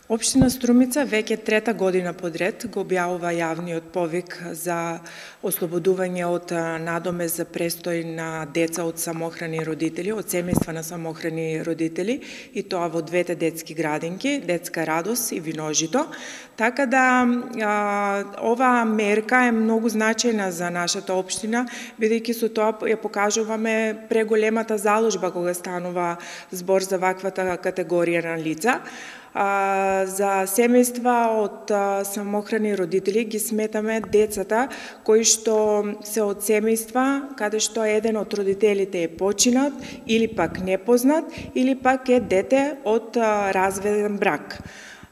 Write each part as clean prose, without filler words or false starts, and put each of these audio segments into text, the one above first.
Општина Струмица веќе трета година подред го објавува јавниот повик за ослободување од надомест за престој на деца од самохрани родители, од семејства на самохрани родители, и тоа во двете детски градинки, Детска радост и Виножито. Така да оваа мерка е многу значајна за нашата општина, бидејќи со тоа ја покажуваме преголемата заложба кога станува збор за ваквата категорија на лица. За семејства од самохрани родители ги сметаме децата кои што се од семејства каде што еден од родителите е починат или пак непознат или пак е дете од разведен брак.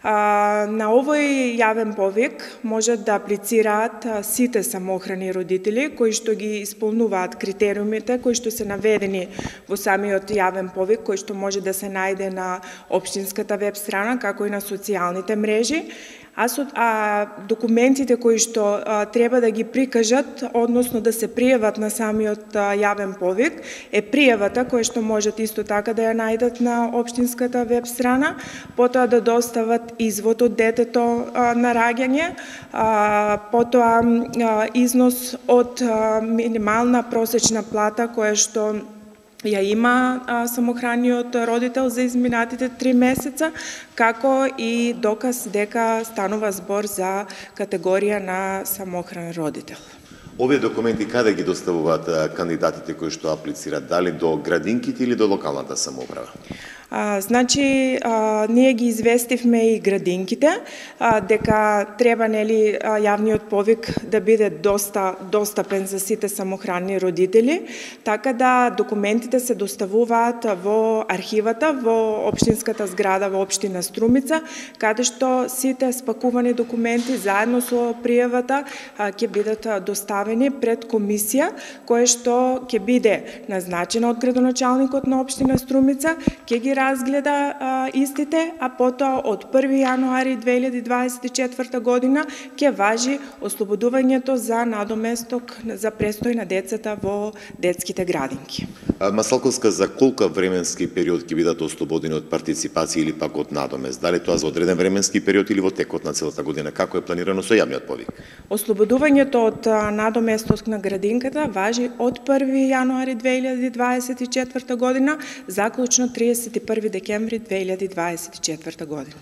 На овој јавен повик можат да аплицираат сите самохрани родители кои што ги исполнуваат критериумите кои што се наведени во самиот јавен повик, кој што може да се најде на општинската веб страна, како и на социјалните мрежи. Документите кои што треба да ги прикажат, односно да се пријават на самиот јавен повик, е пријавата која што можат исто така да ја најдат на општинската веб страна, потоа да достават извод од детето на раѓање, потоа износ од минимална просечна плата која што ја има самохраниот родител за изминатите 3 месеца, како и доказ дека станува збор за категорија на самохран родител. Овие документи каде ги доставуваат кандидатите кои што аплицираат, дали до градинките или до локалната самоуправа? Ние ги известивме и градинките дека треба јавниот повик да биде достапен за сите самохранни родители, така да документите се доставуваат во архивата во општинската зграда во општина Струмица, каде што сите спакувани документи заедно со пријавата ќе бидат доставени пред комисија која што ќе биде назначена од градоначалникот на општина Струмица, ќе ги разгледа истите, а потоа од 1 јануари 2024 година ќе важи ослободувањето за надоместок за престој на децата во детските градинки. Масалковска, за колку временски период ќе бидат ослободени од партиципација или пак од надомест? Дали тоа за одреден временски период или во текот на целата година? Како е планирано со јавниот повик? Ослободувањето од надоместок на градинката важи од 1 јануари 2024 година, заклучно 31 декември 2024 година.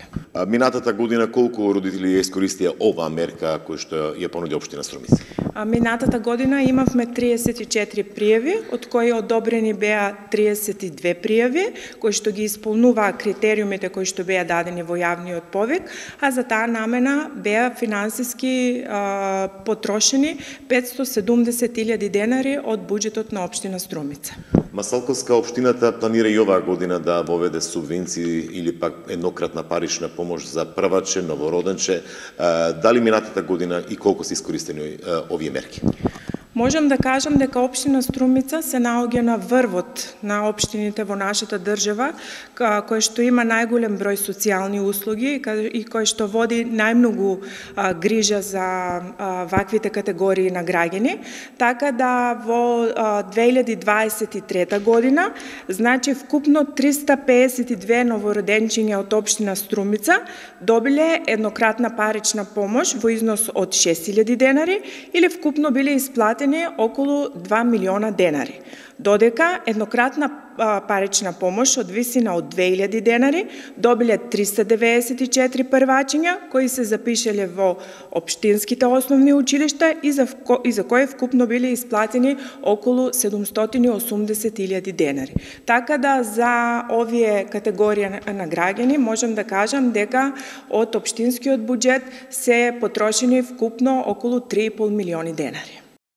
Минатата година колку родители ја искористија оваа мерка која што ја понуди општина Струмица? Минатата година имавме 34 пријави, од кои одобрени беа 32 пријави, кои што ги исполнуваа критериумите кои што беа дадени во јавниот повик, а за таа намена беа финансиски потрошени 570.000 денари од буџетот на општина Струмица. Масалковска, општината планира и оваа година да воведе субвенции или пак еднократна парична помош за прваче, новороденче. Дали минатата година и колку се искористени овие мерки? Можам да кажам дека општина Струмица се наоѓа на врвот на општините во нашата држава, кој што има најголем број социјални услуги и кој што води најмногу грижа за ваквите категории на граѓани. Така да во 2023 година, значи вкупно 352 новороденчиња од општина Струмица добиле еднократна парична помош во износ од 6.000 денари или вкупно биле исплатени околу 2 милиона денари. Додека еднократна парична помош од висина од 2000 денари добиле 394 првачиња кои се запишеле во општинските основни училишта и за кои вкупно биле исплатени околу 780.000 денари. Така да за овие категорија на граѓани можам да кажам дека од општинскиот буџет се потрошени вкупно околу 3,5 милиони денари.